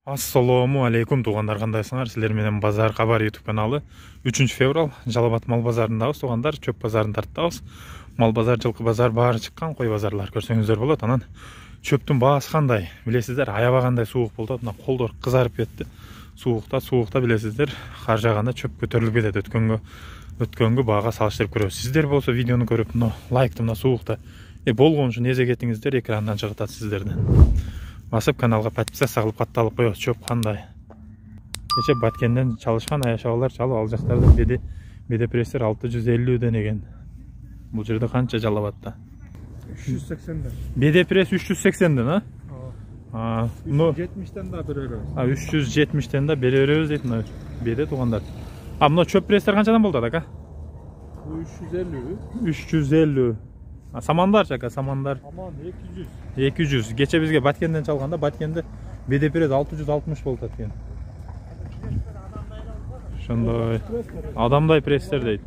Ассаламу алейкум туугандар, кандайсыңар? Силер менен Базар Кабар YouTube каналы. 3 февраль Жалал Абад мал базарындабыз туугандар. Чөп базарын тарттабыз. Мал базар, жылкы базар баары чыккан, кой базарлар көрсөңүздөр болот. Анан чөптүн баасы кандай? Билесиздер, аябагандай суук болду. Мына колдор кызарып кетти. Суукта билесиздер, кар жааганда чөп көтөрүлүп кетет. Өткөнгө баага салыштырып көрөбүз. Сиздер болсо видеону көрүп, мына лайкты мына суукта болгон үчүн эзе кетиңиздер, экрандан чыгып атат сиздерден. Басып каналга подписаться кылып катталып коебуз. Чөп кандай? Кече Баткенден чалышкан аяшабалар чалып, ал жактарда беде прессер 650 экен. Бул жерде канча Жалал Абадта? 380ден. Беде пресс 380ден, а? 370ден да беребиз. 370ден да беребиз дейт мына беде туугандар. Мына чөп пресстер канчадан болду ака? 350. Самандар чака, самандар. Аман 200. 200. Кече бизге Баткенден чалганда, Баткенде беде пресс 660 болот экен. Ошондой адамдай пресстер дейт.